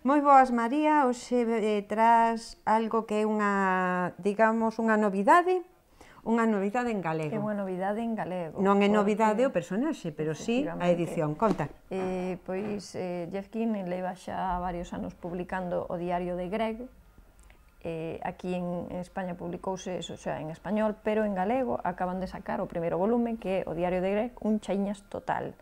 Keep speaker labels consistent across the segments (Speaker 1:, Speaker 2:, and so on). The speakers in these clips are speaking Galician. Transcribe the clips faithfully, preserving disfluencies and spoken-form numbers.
Speaker 1: Moi boas, María, hoxe eh, tras algo que é unha, digamos, unha novidade, unha novidade en galego.
Speaker 2: É unha novidade en galego.
Speaker 1: Non é novidade o personaxe, pero sí a edición. Conta.
Speaker 2: Eh, pois eh, Jeff Kinney leva xa varios anos publicando o Diario de Greg. Eh, aquí en España publicouse eso xa en español, pero en galego acaban de sacar o primeiro volume, que é o Diario de Greg, un chaiñas total.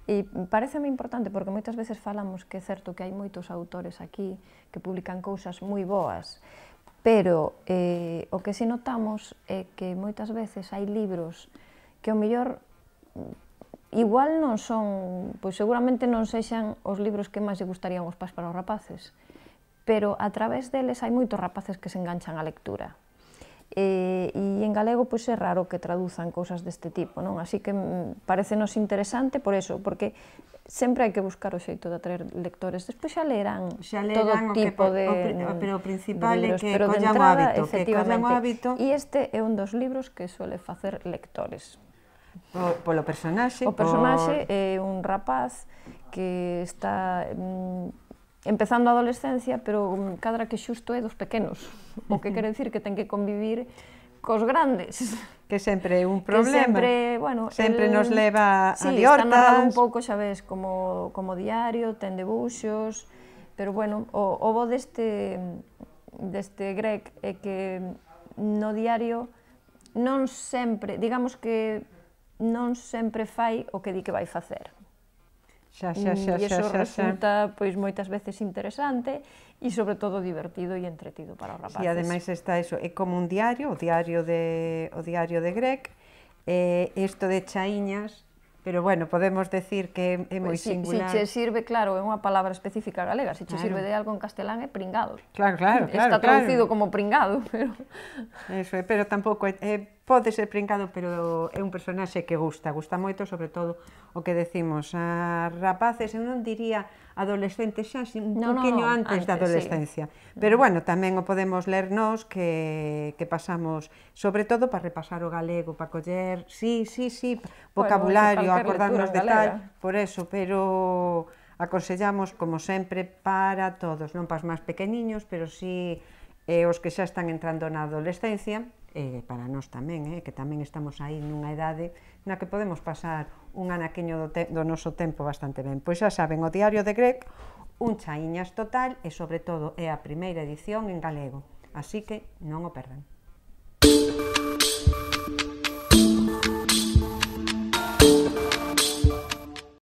Speaker 2: E pareceme importante porque moitas veces falamos que é certo que hai moitos autores aquí que publican cousas moi boas, pero eh, o que si notamos é que moitas veces hai libros que ao mellor igual non son, pois seguramente non sexan os libros que máis lle gustarían os pais para os rapaces, pero a través deles hai moitos rapaces que se enganchan á lectura. E, e en galego pois é raro que traduzan cousas deste tipo, non? Así que parecenos interesante por eso, porque sempre hai que buscar o xeito de atraer lectores. Despois xa lerán todo tipo de libros,
Speaker 1: pero o principal é que collan o hábito, que collan o hábito.
Speaker 2: E este é un dos libros que suele facer lectores.
Speaker 1: Polo personaxe.
Speaker 2: O personaxe é un rapaz que está empezando a adolescencia, pero cadra que xusto é dos pequenos, o que quere dicir que ten que convivir cos grandes.
Speaker 1: Que sempre é un problema.
Speaker 2: Que sempre, bueno,
Speaker 1: sempre nos leva a liortas.
Speaker 2: Sí, está narrado un pouco, xa ves, como, como diario, ten debuxos, pero bueno, o, o bo deste, deste Greg é que no diario non sempre, digamos que non sempre fai o que di que vai facer.
Speaker 1: Xa, xa, xa,
Speaker 2: e iso
Speaker 1: xa, xa,
Speaker 2: resulta pois moitas veces interesante e sobre todo divertido e entretido para os rapaces.
Speaker 1: E ademais está eso, é como un diario, o diario de, o diario de Greg, eh, isto de chaiñas, pero bueno, podemos decir que é moi
Speaker 2: pues, si,
Speaker 1: singular.
Speaker 2: Si che sirve, claro, é unha palabra específica galega, se che claro. Sirve de algo en castelán é pringado.
Speaker 1: Claro, claro, claro.
Speaker 2: Está traducido claro. Como pringado, pero...
Speaker 1: Eso é, pero tampouco, é, é, pode ser pringado, pero é un personaxe que gusta, gusta moito, sobre todo o que decimos, a rapaces, eu non diría adolescentes xa, un no, poquinho no, antes, antes da adolescencia. Sí. Pero bueno, tamén o podemos ler nós que, que pasamos, sobre todo para repasar o galego, para coller, sí, sí, sí, vocabulario, bueno, acordarnos de tal, por eso, pero aconsellamos, como sempre, para todos, non para os máis pequeniños, pero sí eh, os que xa están entrando na adolescencia, e para nós tamén, eh, que tamén estamos aí nunha idade na que podemos pasar un anaquiño do, te do noso tempo bastante ben. Pois xa saben, o Diario de Greg, un chaiñas total e sobre todo é a primeira edición en galego, así que non o perdan.